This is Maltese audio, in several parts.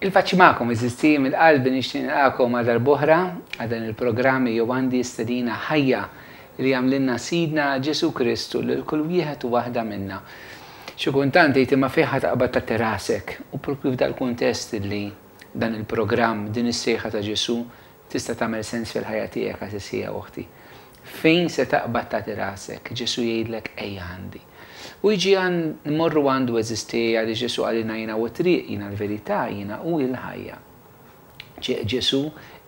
Il-paċi magħkom għeżież tiegħi mill-qalbi nixtieq nilqagħkom għal darb'oħra għal dan il-programm Ejjew Għandi Stedina Ħajja li jagħmlilna Sidna Ġesù Kristu lil kull wieħed u waħda minna. Xi kultant tgħid imma fejn ħa taqbad tagħti rasek u proprju f'dal-kuntest li dan il-programm, din is-sejħa ta' Ġesù tista' tagħmel sens fil-ħajja tiegħek għażiż ħija u oħti. Fejn se taqbad tagħti rasek? Ġesù jgħidlek ejja għandi. U jiġi għand, immorru għandu għeżież tiegħi għaliex Ġesù qalilna jiena hu t-triq, jiena l-verità, jiena hu l-ħajja. Ġesù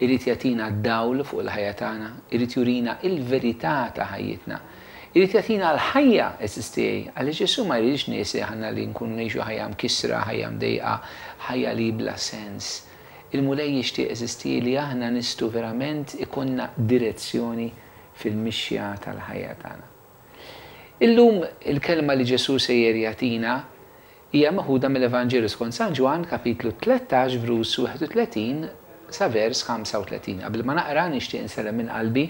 irid jagħtina d-dawl fuq il-ħajja tagħna, irid jurina il-verità ta' ħajjitna. Irid jagħtina l-ħajja, għeżież tiegħi, għaliex Ġesù ma jridx nies aħna li nkunu ngħixu ħajja mkissra, ħajja mdejqa, ħajja li bla sens. Il-Mulej jixtieq, għeżież tiegħi, li aħna nistgħu verament ikollna direzzjoni fil-mixja tal-ħajja tagħna. Illum il-kelma li Ġesù sejjer jagħtina hija meħuda mill-Evanġelju skont San Ġwann kapitlu 13 vrus 31 sa vers 35. Qabel ma naqra nixtieq insellem minn qalbi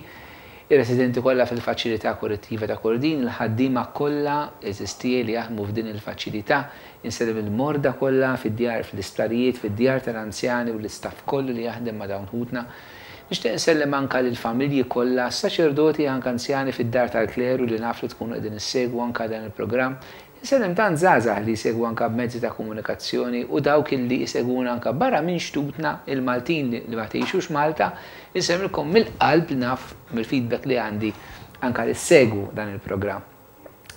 ir-residenti kollha fil-faċilità korrettiva ta' Kordin, il-ħaddiema kollha għeżież tiegħi li jaħdmu f'din il-faċilità, insellem il-morda kollha fid-djar, fl-isptarijiet, fid-djar tal-anzjani u l-istaff kollu li jaħdem ma' dawn ħutna. Nixtieq insellem anka lill-familji kollha, s-saċerdoti anka anzjani fid-dar tal-kleru li naf li tkunu qegħdin issegwu anka dan il-programm. Insellem tant żgħażagħ li jsegwu anka b'mezzi ta' komunikazzjoni u dawk illi jsegwuna anka barra minn xtutna, il-Maltin li ma tgħixux Malta, insellmilkom mill-qalb li naf mill-feedback li għandi anka li ssegwu dan il-programm.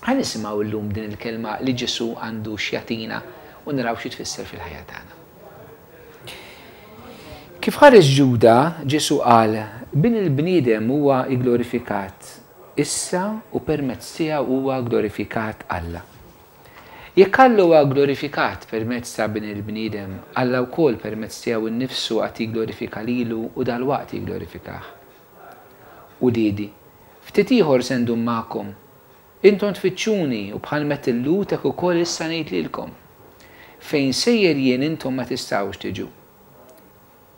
Ħa nisimgħu llum din il-kelma li Ġesù għandu x'jagħtina u naraw xi tfisser fil-ħajja tagħna. Kif ħareġ Ġuda, Ġesù qal, Bin il-bniedem huwa gglorifikat issa u permezz tiegħu huwa gglorifikat Alla. Jekk Alla huwa gglorifikat permezz ta' Bin il-bniedem, Alla wkoll permezz tiegħu nnifsu għad jigglorifika lilu u dalwaqt jigglorifikah. Uliedi, Ftit ieħor se ndum magħkom. Intom tfittxuni u bħal m'għedt il-Lhud hekk ukoll issa ngħid lilkom, Fejn sejjer jien intom ma tistgħux tiġu.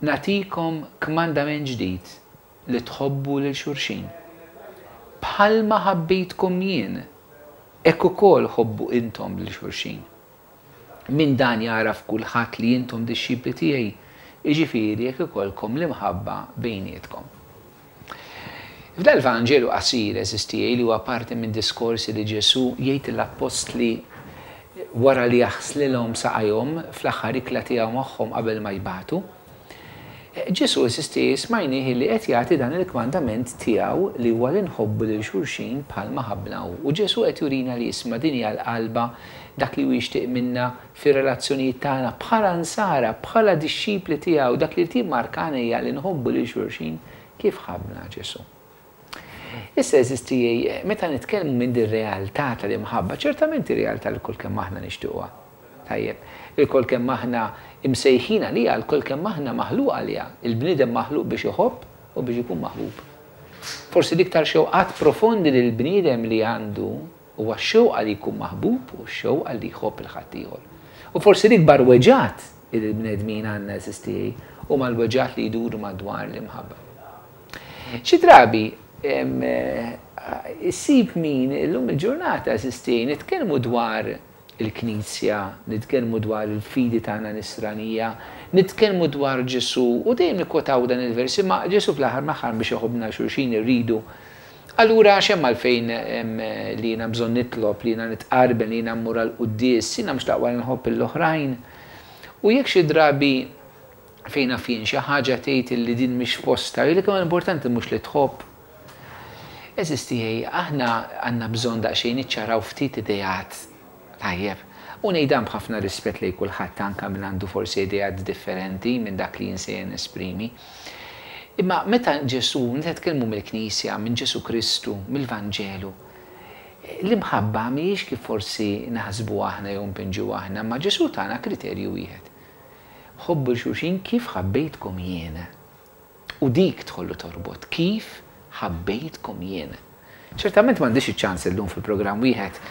Nagħtikom kmandament ġdid, li tħobbu lil xulxin. Bħalma ħabbejtkom jien, hekk ukoll ħobbu intom lil xulxin. Minn dan jagħraf kulħadd li intom dixxipli tiegħi, jiġifieri jekk ikollkom l-imħabba bejnietkom. F'dal-Vanġelu qasir, għeżież tiegħi, li huwa parti minn diskorsi li Ġesù jgħid lill-appostli wara li jaħslilhom saqajhom fl-aħħar ikla tiegħu magħhom qabel ma jbatu, Ġesù, għeżież tiegħi, smajnieh li qed jagħti dan il-kmandament tiegħu li huwa li nħobbu lil xulxin bħalma ħabbna hu. U Ġesù qed jurina li isma' din hija l-qalba, dak li hu jixtieq minna fir-relazzjonijiet tagħna bħala Nsara, bħala dixxipli tiegħu, dak li jrid jimmarkana hija li nħobbu lil xulxin kif ħabbna Ġesù. Issa għeżież tiegħi, meta nitkellmu minn din realtà tal-imħabba, ċertament hi realtà li lkoll kemm aħna nixtiequha. Tajjeb, ilkoll kemm aħna imsejħin għaliha, lkoll kemm aħna maħluqa għaliha. Il-bniedem maħluq biex iħobb u biex ikun maħbub. Forsi l-iktar xewqat profondi li l-bniedem li għandu huwa x-xewqa li jkun maħbub u x-xewqa li jħobb 'il ħaddieħor. U forsi l-ikbar weġgħat li l-bnedmin għandna għeżież tiegħi huma l-weġgħat li jduru madwar l-imħabba. Xi drabi issib min illum il-ġurnata għeżież tiegħi nitkellmu dwar il-Knisja, nitkellmu dwar il-fidi tagħna Nisranija, nitkellmu dwar Ġesù u dejjem nikkwotaw dan il-vers, imma Ġesù fl-aħħar mill-aħħar biex iħobbna 'l xulxin irridu. Allura x'hemm għalfejn li jiena bżonn nitlob, li jiena nitqarben, li jiena mmur għall-quddies, jiena mhux l-aqwa li nħobb lill-oħrajn? U jekk xi drabi fejn naf jien xi ħaġa tgħid illi din mhix f'postha, jgħidlek imma l-importanti mhux li tħobb. Għeżież tiegħi, aħna għandna bżonn daqsxejn niċċaraw ftit ideat, tajjeb? U ngħid dan b'ħafna rispett lejn kulħadd anke min għandu forsi ideat differenti minn dak li jien sejjer nesprimi. Imma meta Ġesù, meta nitkellmu mill-Knisja, minn Ġesù Kristu, mill-Vanġelu, l-imħabba mhijiex kif forsi naħsbu aħna jew npinġu aħna, imma Ġesù tana kriterju wieħed. Ħobbu 'l xulxin kif ħabbejtkom jien. U dik tħollu torbot, kif ħabbejtkom jien. Ċertament m'għandix iċ-ċans illum fil-programm wieħed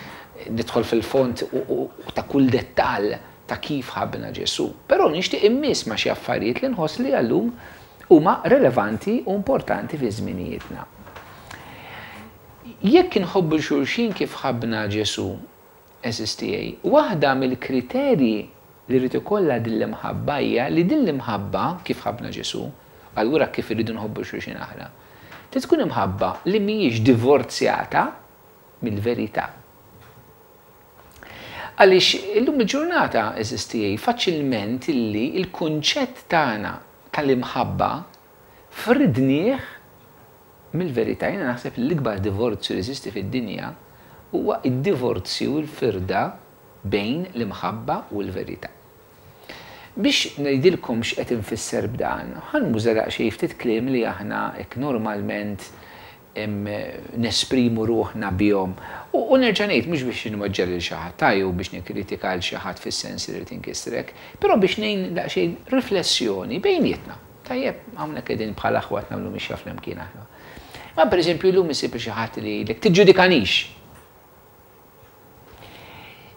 nidħol fil-fond u ta' kull dettall ta' kif ħabbna Ġesù. Però nixtieq immiss ma' xi affarijiet li nħoss li għal-lum huma relevanti u importanti fi żminijietna. Jekk inħobbu 'l xulxin kif ħabbna Ġesù, għeżież tiegħi, waħda mill-kriterji. li jrid ikollha din l-imħabba hija li din l-imħabba, kif ħabbna Ġesù, allura kif irridu nħobbu xulxin aħna, trid tkun imħabba li mhijiex divorzjata mill-verità. Għaliex illum il-ġurnata, għeżież tiegħi, faċilment illi l-kunċett tagħna tal-imħabba fridnieh mill-verità. Jiena naħseb li l-ikbar divorzju li jeżisti fid-dinja huwa d-divorzju, il-firda bejn l-imħabba u l-verità. Biex ngħidilkom x'qed infisser b'dan, ħa nuża daqsxejn ftit kliem li aħna hekk normalment nesprimu ruħna bihom. U nerġa' ngħid mhux biex inweġġa' lil xi ħadd jew biex nikkritika 'l xi ħadd fis-sens li rrid inkissrek, però biex ngħin daqsxejn riflessjoni bejnietna. Tajjeb, hawnhekk qegħdin bħal aħwa qed nagħmlu mixja flimkien aħna. Ma pereżempju llum issib lil xi ħadd li jgħidlek tiġġudikanix.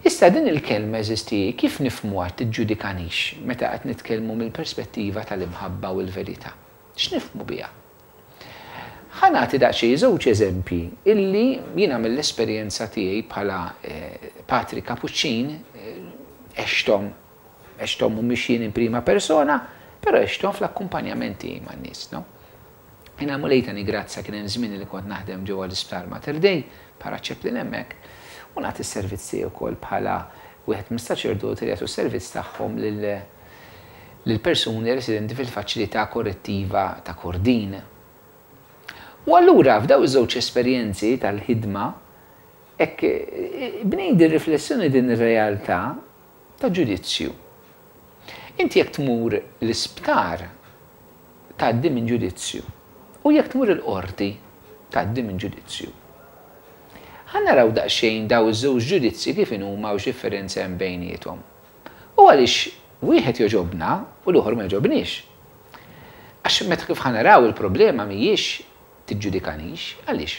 Issa din il-kelma għeżież tiegħi kif nifhmuha tiġġudikanix meta qed nitkellmu mill-perspettiva tal-imħabba u l-verità? X'nifhmu biha? Ħa nagħti daqsxejn żewġ eżempji illi jiena mill-esperjenza tiegħi bħala patri Kapuċċin għexthom, għexthom mhumiex jien in prima persona, però għexthom fl-akkumpanjament tiegħi man-nies, no? Jiena Mulej tani grazzja kien hemm żmien li kont naħdem ġewwa l-Isptar Mater Dei bħala chaplain hemmhekk u nagħti s-servizz tiegħi wkoll bħala wieħed mis-saċerdoti li jagħtu s-servizz tagħhom lil lill-persuni residenti fil-faċilità korrettiva ta' Kordin. U allura f'dawn iż-żewġ esperjenzi tal-ħidma hekk bnejt din riflessjoni din ir-realtà ta' ġudizzju. Inti jekk tmur l-isptar tgħaddi minn ġudizzju u jekk tmur il-qorti tgħaddi minn ġudizzju. Ħa naraw daqsxejn dawn iż-żewġ ġudizzji kif inhuma u x'differenza hemm bejniethom. U għaliex wieħed jogħġobna u l-ieħor ma jogħġobniex. Għax meta kif ħa naraw il-problema mhijiex tiġġudikanix, għaliex?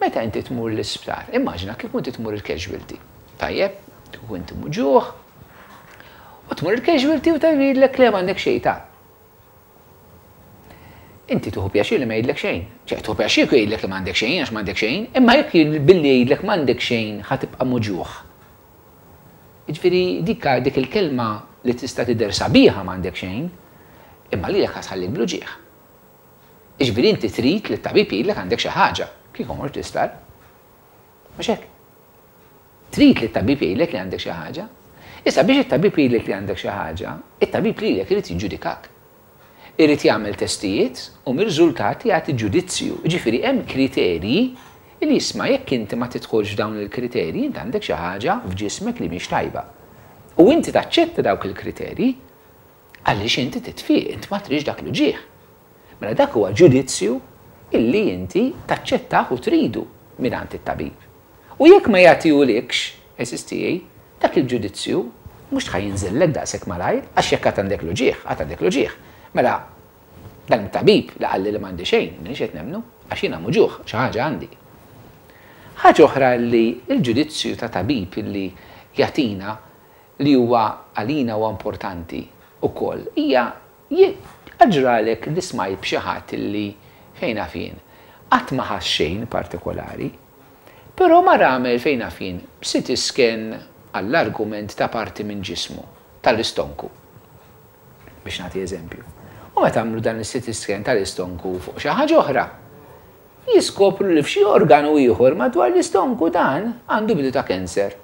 Meta inti tmur l-isptar, immaġina kieku inti tmur il-casualty. Tajjeb, kieku inti muġugħ, u tmur il-casualty u tgħidlek le m'għandek xejn ta'. Inti tieħu pjaċir li ma jgħidlek xejn. Ċe, tieħu pjaċir kieku jgħidlek li m'għandek xejn għax m'għandek xejn, imma jekk billi jgħidlek m'għandek xejn ħa tibqa' muġugħ. Jiġifieri dik dik il-kelma li tista' tidher sabiħa m'għandek xejn, imma lilek ħa tħallik bl-uġigħ. Jiġifieri inti trid li t-tabib jgħidlek għandek xi ħaġa, kieku mort l-isptar. Mhux hekk? Trid li t-tabib jgħidlek li għandek xi ħaġa. Issa biex it-tabib jgħidlek li għandek xi ħaġa, it-tabib lilek irid jiġġudikak. Irid jagħmel testijiet u mir-riżultati jagħti ġudizzju. Jiġifieri hemm kriterji li isma' jekk inti ma tidħolx f'dawn il-kriterji int għandek xi ħaġa f'ġismek li mhix tajba. U inti taċċetta dawk il-kriterji għaliex inti titfieq, int ma tridx dak l-uġigħ. Mela dak huwa ġudizzju illi inti taċċettah u tridu mingħand it-tabib. U jekk ma jagħtihulikx, għeżież tiegħi, dak il-ġudizzju mhux ħa jinżillek daqshekk malajr, għax jekk għad għandek l-uġigħ, għad għandek l-uġigħ. Mela, dan it-tabib li qalli li m'għandi xejn, m'iniex qed nemmnu, għax jiena muġugħ, xi ħaġa għandi. Ħaġa oħra li l-ġudizzju ta' tabib li jagħtina li huwa għalina huwa importanti wkoll hija Qatt ġralek li smajt b'xi ħadd li, fejn naf jien, qatt ma ħass xejn partikolari, però mar għamel, fejn naf jien, CT scan għall-argument ta' parti minn ġismu, tal-istonku, biex nagħti eżempju. U meta għamlu dan is-CT scan tal-istonku fuq xi ħaġa oħra, jiskopru li f'xi organu ieħor madwar l-istonku dan għandu bidu ta' cancer.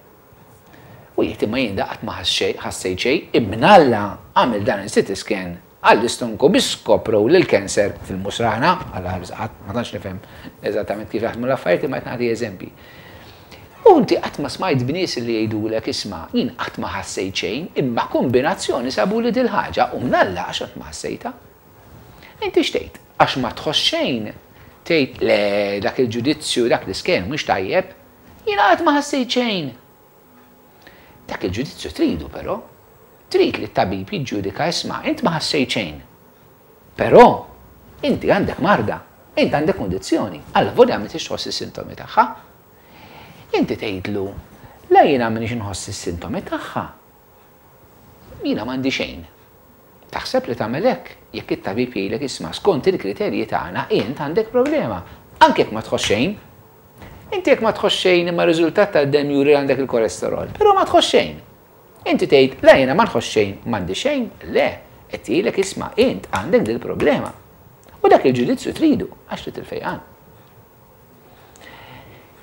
U jgħid imma jien da qatt ma ħassejt xejn, imnalla għamel dan il-CT scan għall-istonku biex skoprow li l-cancer fil-musrana, Alla ħares qatt, ma tantx nifhem eżattament kif jaħdmu l-affarijiet imma qed nagħti eżempji. U inti qatt ma smajt b'nies li jgħidulek isma' jien qatt ma ħassejt xejn imma kombinazzjoni sabuli dil-ħaġa u mnalla għax qatt ma ħassejtha. Inti x'tgħid? Għax ma tħoss xejn tgħid le dak il-ġudizzju, dak l-iscan mhux tajjeb. Jiena qatt ma ħassejt xejn. Dak il-ġudizzju tridu però. Trid li t-tabib jiġġudika isma' int ma ħassejt xejn. Però inti għandek marda, int għandek kundizzjoni, allavolja m'intix tħoss is-sintomi tagħha. Inti tgħidlu, la jiena m'iniex inħoss is-sintomi tagħha. Jiena m'għandi xejn. Taħseb li tagħmel hekk jekk it-tabib jgħidlek isma' skont il-kriterji tagħna int għandek problema, anke jekk ma tħoss xejn. Inti jekk ma tħoss xejn imma r-riżultat tad-demm juri li għandek il-kolesterol, però ma tħoss xejn. Inti tgħid, le jiena ma nħoss xejn, m'għandi xejn, le, qed jgħidlek isma' int għandek dil-problema. U dak il-ġudizzju tridu għax trid il-fejqan.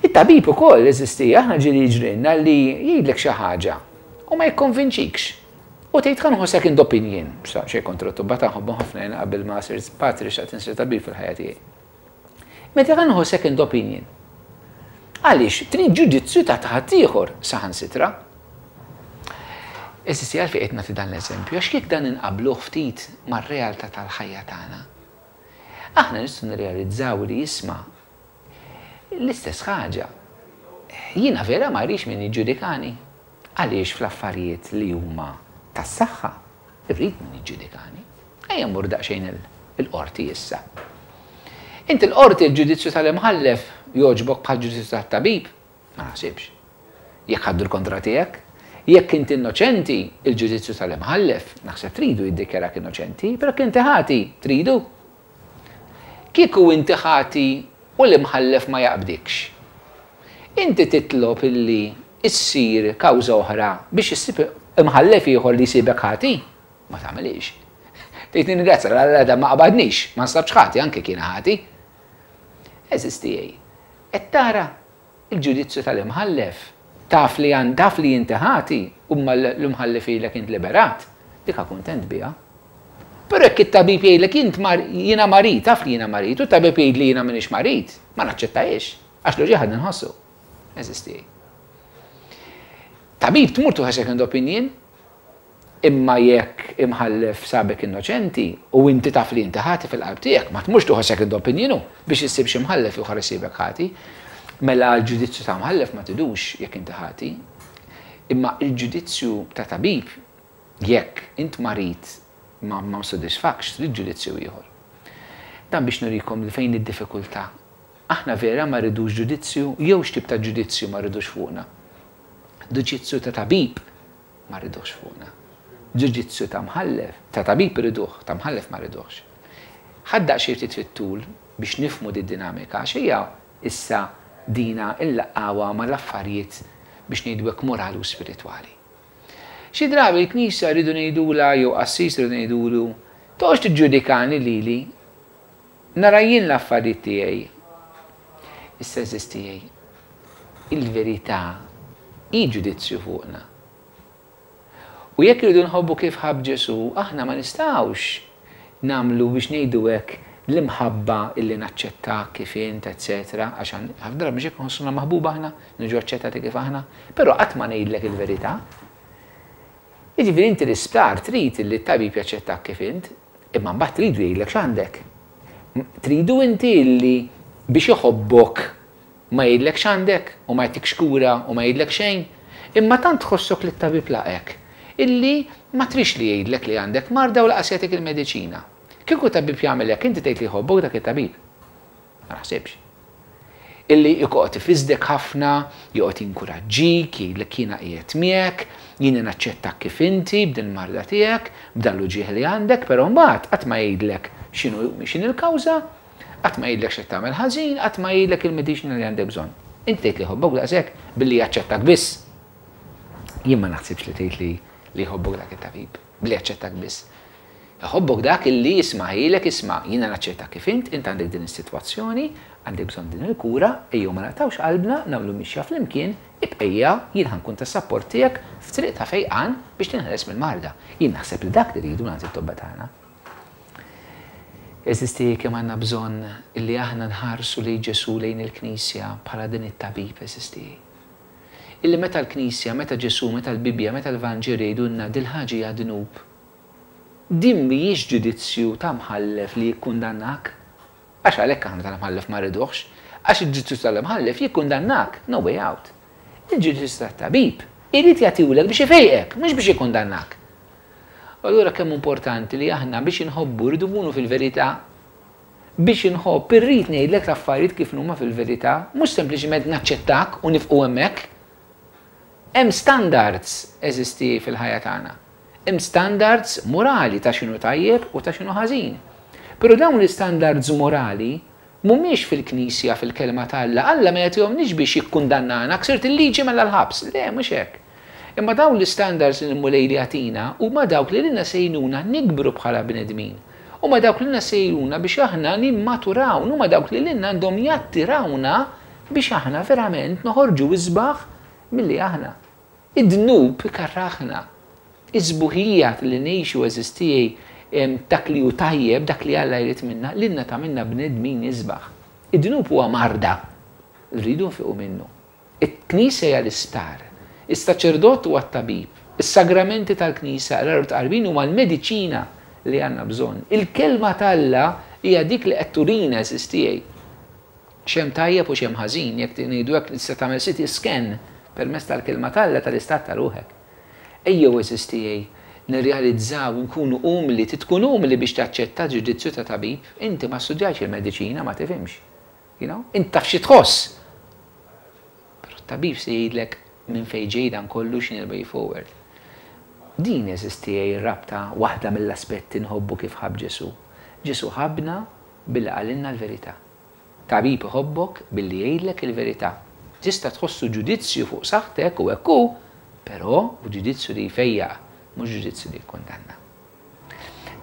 It-tabib ukoll eżisti, aħna ġieli jiġrilna li jgħidlek xi ħaġa u ma jikkonvinċikx. U tgħid ħa nieħu second opinion, xejn kontra t-tobba ta' nħobbhom ħafna jiena qabel ma sirt patri xtaqt insir tabib fil-ħajja tiegħi. Meta ħa nieħu second opinion. Għaliex trid ġudizzju ta' ħaddieħor saħansitra. Eżisti għalfejn qed nagħti dan l-eżempju għax jekk dan inqabbluh ftit mar-realtà tal-ħajja tagħna, aħna nistgħu nirrealizzaw li isma' l-istess ħaġa. Jiena vera ma rridx min jiġġudikani. Għaliex fl-affarijiet li huma tas-saħħa irrid min jiġġudikani. Ejja mmur daqsxejn il-qorti issa. Inti l-qorti l-ġudizzju tal-imħallef jogħġbok bħal ġudizzju tat-tabib? Ma naħsibx. Jekk ħaddu l-kontra tiegħek, jekk inti innoċenti, il-ġudizzju tal-imħallef, naħseb tridu jiddikjarak innoċenti, però jekk inti ħati, tridu? Kieku inti ħati u l-imħallef ma jaqbdikx. Inti titlob illi issir kawża oħra biex issib imħallef ieħor li jsibek ħati? Ma tagħmilix. Tgħid ningrazzja l da ma qabadnix, ma nstabx ħati anke kien ħati. Għeżież tiegħi, qed tara il-ġudizzju tal-imħallef, taf li għan taf li inti ħati u ma l-imħallef jgħidlek int liberat, dika kuntent biha. Però jekk it-tabib jgħidlek int jiena marid, taf li jiena marid, u t-tabib jgħid li jiena m'iniex marid, ma naċċettajiex, għax l-uġigħ għadni nħossu. Għeżież tiegħi. Tabib tmur tieħu second opinion, imma jekk imħallef sabek innoċenti u inti taf li inti ħati fil-qalb tiegħek, ma tmurx tieħu second opinion biex issib xi mħallef ieħor isibek ħati. Mela l-ġudizzju ta' mħallef ma tidux jekk inti ħati. Imma il-ġudizzju ta' tabib jekk int marid ma ma sodisfakx, trid ġudizzju ieħor. Dan biex nurikom li fejn id-diffikultà. Aħna vera ma rridux ġudizzju jew x'tip ta' ġudizzju ma rridux fuqna. Ġudizzju ta' tabib ma rridux fuqna. Ġudizzju ta' mħallef, ta' tabib irriduh, ta' mħallef ma rridux. Ħadda xi ftit fit-tul biex nifhmu di dinamika għax hija issa dina nlaqqgħuha mal-affarijiet biex ngħidu hekk morali u spiritwali. Xi drabi l-Knisja rridu ngħidulha jew qassis rridu ngħidulu toqgħodx tiġġudikani lili, nara jien l-affarijiet tiegħi. Issa għeżież tiegħi, il-verità hi ġudizzju fuqna. U jekk irridu nħobbu kif ħabb Ġesù, aħna ma nistgħux nagħmlu biex ngħidu hekk l-imħabba illi naċċetta kif int, eccetera, għax ħafna drabi mhux hekk nħossuna maħbuba aħna, niġu aċċettati kif aħna, però qatt ma ngħidlek il-verità. Jiġifieri inti l-isptar trid li t-tabib jaċċettak kif int, imma mbagħad tridu jgħidlek x'għandek. Tridu inti illi biex iħobbok ma jgħidlek x'għandek u ma jtikx kura u ma jgħidlek xejn, imma tant tħossok li t-tabib laqek illi ma trix li jgħidlek li għandek marda u lanqas jagħtik il-mediċina. Kieku tabib jagħmel hekk inti tgħid li jħobbok dak it-tabib? Ma naħsibx. Illi joqgħod ifisdek ħafna, joqgħod jinkuraġġik, jgħidlek jiena qiegħed miegħek, jiena naċċettak kif inti b'din marda tiegħek, b'dan l-uġigħ li għandek, però mbagħad qatt ma jgħidlek x'inhu x'inhi l-kawża, qatt ma jgħidlek x'qed tagħmel ħażin, qatt ma jgħidlek il-mediċina li għandek bżonn. Inti tgħid li jħobbok daqshekk billi jaċċettak biss. Jien ma naħsibx li tgħid li li jħobbok dak it-tabib, billi jaċċettak biss. Iħobbok dak illi jisma' jgħidlek isma' jiena naċċettak kif int, int għandek din is-sitwazzjoni, għandek bżonn din il-kura, ejjew ma naqtgħux qalbna, nagħmlu mixja flimkien, ibqejja jien ħa nkun ta' sapport tiegħek f'triq ta' fejqan biex tinħeles mill-marda. Jien naħseb li dak li rridu nagħti t-tobba tagħna. Għeżież tiegħi kemm għandna bżonn illi aħna nħarsu lejn Ġesù lejn il-Knisja bħala din it-tabib għeżież tiegħi. Illi meta l-Knisja, meta Ġesù, meta l-Bibbja, meta l-Vanġelu jgħidulna dil-ħaġa hija dnub, din mhijiex ġudizzju ta' mħallef li jikkundannak. Għax għalhekk aħna tal-imħallef ma rriduhx, għax il-ġudizzju tal-imħallef jikkundannak, no way out. Il-ġudizzju tat-tabib irid jagħtihulek biex ifejqek, mhux biex jikkundannak. U allura kemm importanti li aħna biex inħobbu rridu nkunu fil-verità. Biex inħobb irrid ngħidlek l-affarijiet kif huma fil-verità, mhux sempliċiment naċċettak u nifqu hemmhekk. Hemm standards eżisti fil-ħajja tagħna. Hemm standards morali ta' x'inhu tajjeb u ta' x'inhu ħażin. Però dawn l-istandards morali mhumiex fil-Knisja fil-kelma ta' Alla. Alla ma jagħtihomniex biex jikkundannana, ksirt il-liġi mela l-ħabs. Le, mhux hekk. Imma dawn l-istandards li l-Mulej li jagħtina huma dawk li lilna se jgħinuna nikbru bħala bnedmin. Huma dawk li lilna se jgħinuna biex aħna nimmaturaw, huma dawk li lilna għandhom jattirawna biex aħna verament noħorġu isbaħ milli aħna. Id-dnub ikarraħna. Is-sbuħija li ngħixu għeżież tiegħi dak li hu tajjeb, dak li Alla jrid minna, lilna tagħmilna bnedmin isbaħ. Id-dnub huwa marda li rridu nfiqu minnu. Il-Knisja hija l-isptar. Is-saċerdot huwa t-tabib. Is-sagramenti tal-Knisja, qrar u tqarbin huma l-mediċina li għandna bżonn. Il-Kelma t'Alla hija dik li qed turina, għeżież tiegħi, x'hemm tajjeb u x'hemm ħażin, jekk ngħidu hekk tista' tagħmel CT scan permezz tal-Kelma t'Alla tal-istat ta' ruħek. Ejjew għeżież tiegħi, nirrealizzaw, inkunu umli, trid tkun umli biex taċċetta ġudizzju ta' tabib, inti ma studjajtx il-mediċina, ma tifhimx. You know? Int taf xi tħoss. Però t-tabib se jgħidlek minn fejn ġej dan kollu x'inhi l-way forward. Din għeżież tiegħi r-rabta waħda mill-aspetti nħobbu kif ħabb Ġesù. Ġesù ħabbna billi qalilna l-verità. Tabib iħobbok billi jgħidlek il-verità. Tista' tħossu ġudizzju fuq saħħtek u hekk hu, però hu ġudizzju li jfejjaq, mhux ġudizzju li jikkundanna.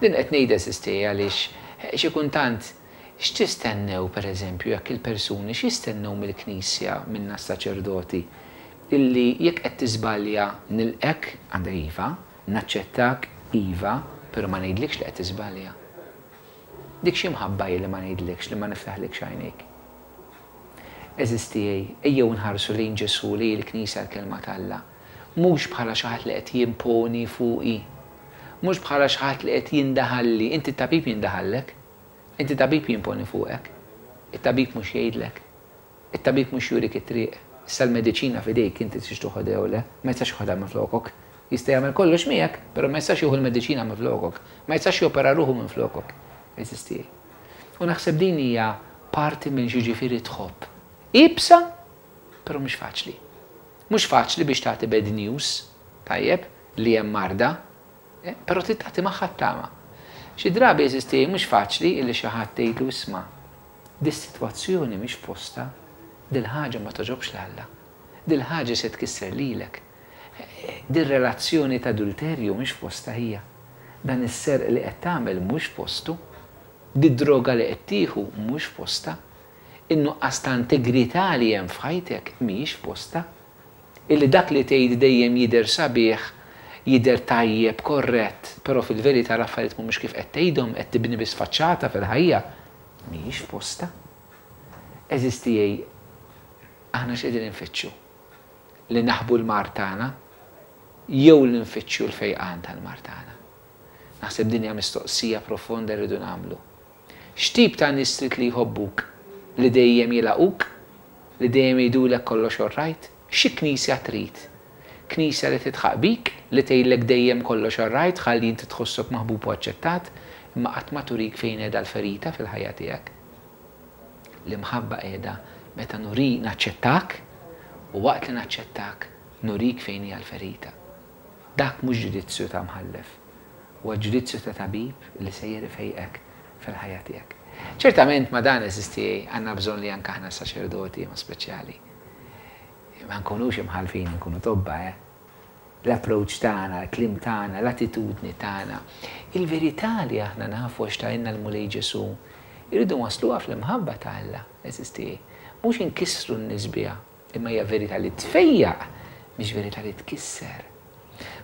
Din qed ngħidha għeżież tiegħi għaliex xi kuntant x'tistennew pereżempju jekk il-persuni x'jistennew mill-Knisja minna s-saċerdoti illi jekk qed tiżbalja nilqgħek għandek iva, naċċettak iva, però ma ngħidlikx li qed tiżbalja. Dik xi mħabba hi li ma ngħidlikx li ma niftaħlikx għajnejk. Għeżież tiegħi, ejjew nħarsu lejn Ġesù, lejn il-Knisja l-Kelma t'Alla, mhux bħala xi ħadd li qed jimponi fuqi, mhux bħala xi ħadd li qed jindaħalli, inti t-tabib jindaħallek, inti tabib jimponi fuqek, it-tabib mhux jgħidlek, it-tabib mhux jurik it-triq, issa l-mediċina f'idejk inti tridx toħodha jew le, ma jistax joħodha minflokok. Jista' jagħmel kollox miegħek, però ma jistax jieħu l-mediċina minflokok, ma jistax jopera ruħu minflokok. Għeżież tiegħi. U naħseb din hija parti minn x'jiġifieri tħobb. Iebsa, però mhux faċli. Mhux faċli biex tagħti bad news, tajjeb, li hemm marda, però trid tagħti magħha t-tama. Xi drabi, għeżież tiegħi, mhux faċli illi xi ħadd tgħidlu isma', dis-sitwazzjoni mhix f'postha, dil-ħaġa ma togħġobx 'l Alla, dil-ħaġa se tkisser lilek, dir-relazzjoni t'adulterju mhix f'postha hija, dan is-serq li qed tagħmel mhux f'postu, did-droga li qed tieħu mhux f'postha. In-nuqqas ta' integrità li hemm f'ħajtek mhijiex f'postha. Illi dak li tgħid dejjem jidher sabiħ, jidher tajjeb, korrett, però fil-verità l-affarijiet mhumiex kif qed tgħidhom, qed tibni biss faċċata fil-ħajja, mhijiex f'postha. Għeżież tiegħi, aħna x'qegħdin infittxu? Li naħbu l-mard tagħna jew li nfittxu l-fejqan tal-mard tagħna? Naħseb din hija mistoqsija profonda rridu nagħmlu. X'tip ta' nies trid li jħobbuk? Li dejjem jilgħaquk? Li dejjem jgħidulek kollox orrajt? Xi knisja trid? Knisja li tidħaq bik, li tgħidlek dejjem kollox orrajt ħalli inti tħossok maħbub u aċċettat, imma qatt ma turik fejn qiegħda l-ferita fil-ħajja tiegħek? L-imħabba qiegħda meta nuri naċċettak u waqt li naċċettak nurik fejn hija l-ferita. Dak mhux ġudizzju ta' mħallef. Huwa ġudizzju ta' tabib li sejjer ifejqek fil-ħajja tiegħek. Ċertament ma' dan, għeżież tiegħi, għandna bżonn li anke aħna s-saċerdoti, ma' speċjali, ma nkunux imħallfin, inkunu tobba, eh? L-approach tagħna, l-kliem tagħna, l-attitudni tagħna, il-verità li aħna nafu għax tgħinna l-Mulej Ġesù, irridu nwassluha fl-imħabba ta' Alla, għeżież tiegħi. Mhux inkissru n-nies biha, Imma hija verità li tfejjaq, mhix verità li tkisser.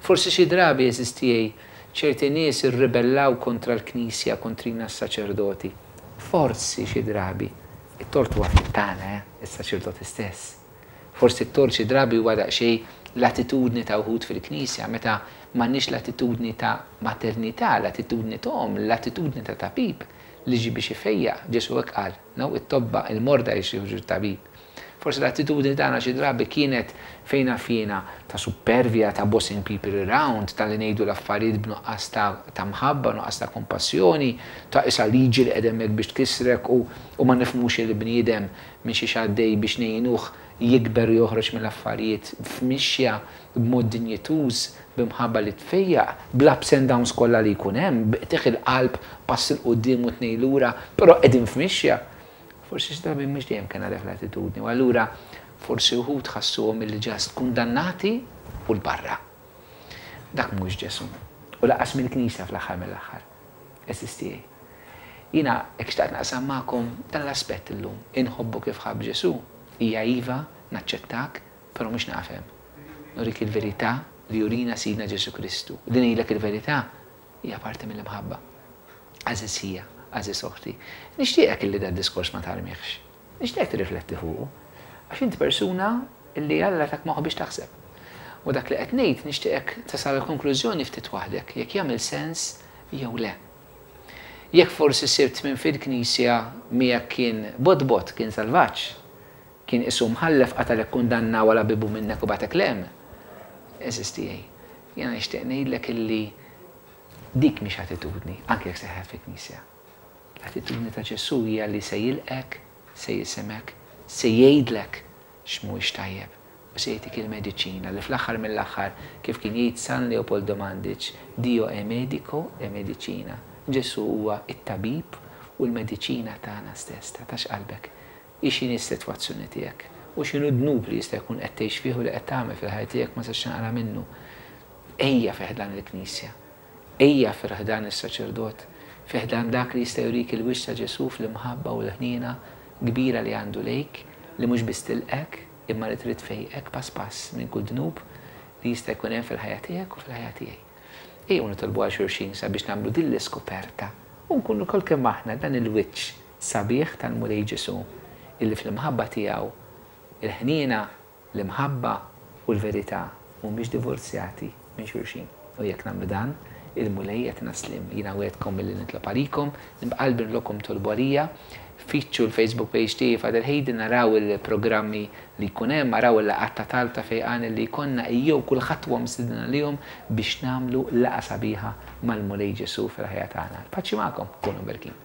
Forsi xi drabi, għeżież tiegħi, ċerti nies irribellaw kontra l-Knisja, kontrina s-saċerdoti. Forsi xi drabi, it-tort huwa ftit tagħna, eh, is-saċerdoti stess. Forsi t-tort xi drabi huwa daqsxejn l-attitudni ta' wħud fil-Knisja, meta m'għandniex l-attitudni ta' maternità, l-attitudni ta' omm, l-attitudni ta' tabib li ġie biex ifejjaq. Ġesù hekk qal, no, it-tobba, il-morda jixtiequ tabib. Forsi l-attitudni tagħna xi drabi kienet, fejn naf jiena, ta' suppervja, ta' bossing people around, ta' li ngħidu l-affarijiet b'nuqqas ta' ta' mħabba, nuqqas ta' kompassjoni, ta' qisha liġi li qiegħda hemmhekk biex tkissrek u u ma nifhmux il-bniedem minn xiex għaddej biex ngħinuh jikber u joħroġ mill-affarijiet f'mixja b'mod dinjituż, b'imħabba li tfejjaq, bl-ups and downs kollha li jkun hemm, bi qtigħ il-qalb, pass 'il quddiem u tnejn lura, però qegħdin f'mixja. Forsi xi drabi mhux dejjem kellna dik l-attitudni u allura forsi wħud ħassuhom illi just kundannati u 'l barra. Dak mhuwiex Ġesù. U lanqas mill-Knisja fl-aħħar mill-aħħar. Għeżież tiegħi. Jiena hekk xtaqt naqsam magħkom dan l-aspett illum. Inħobbu kif ħabb Ġesù hija iva, naċċettak, però mhux naqaf hemm. Nurik il-verità li jurina Sidna Ġesù Kristu. Li ngħidlek il-verità hija parti mill-imħabba. Għażiż ħija, għażiż oħti, nixtieqek illi dad-diskors ma tarmihx. Nixtieqek tirrifletti fuqu. Għax int persuna illi Alla tak moħħ biex taħseb. U dak li qed ngħid nixtieqek tasal għall-konklużjoni ftit waħdek jekk jagħmel sens jew le. Jekk forsi sibt min fil-knisja miegħek kien bott bott, kien salvaġġ, kien qisu mħallef qatalek kundanna wara bibu minnek u bagħtek 'l hemm, għeżież tiegħi, jiena nixtieq ngħidlek illi dik mhix attitudni, anke jekk seħħet fil-knisja. L-attitudni ta' Ġesù hija li se jilqgħek, se jisimgħek, se jgħidlek x'mhuwiex tajjeb u se jagħtik il-mediċina li fl-aħħar mill-aħħar, kif kien jgħid San Leopoldo Mandic, Dio è medico e medicina. Ġesù huwa t-tabib u l-mediċina tagħna stess. Taqtax qalbek. Hi x'inhi s-sitwazzjoni tiegħek u x'inhu d-dnub li jista' jkun qed tgħix fih u li qed tagħmel fil-ħajja tiegħek ma tistax tinqala' minnu. Ejja fi ħdan il-Knisja. Ejja fi ħdan is-saċerdot, fi ħdan dak li jista' jurik il-wiċċ ta' Ġesù fl-imħabba u l-ħniena kbira li għandu lejk, li mhux biss tilqgħek, imma li trid tfejqek pass pass minn kull dnub li jista' jkun hemm fil-ħajja tiegħek u fil-ħajja tiegħi. Ejjew nitolbu għal xulxin sabiex nagħmlu din l-iskoperta u nkunu lkoll kemm aħna dan il-wiċċ sabiħ tal-Mulej Ġesù illi fl-imħabba tiegħu il-ħniena, l-imħabba u l-verità mhumiex divorzjati minn xulxin. U jekk nagħmlu dan, il-Mulej jagħtina s-sliem. Jiena wegħedtkom illi nitlob għalikom, b'qalbi ntlobkom tolbu għalija. Fittxu l-Facebook page tiegħi Father Hayden araw il-programmi li jkun hemm, araw il-laqgħat ta' talb ta' fejqan illi jkollna ejjew kulħadd huwa mistieden għalihom biex nagħmlu laqgħa sabiħa mal-Mulej Ġesù fil-ħajja tagħna. Il-paċi magħkom, kunu mberkin.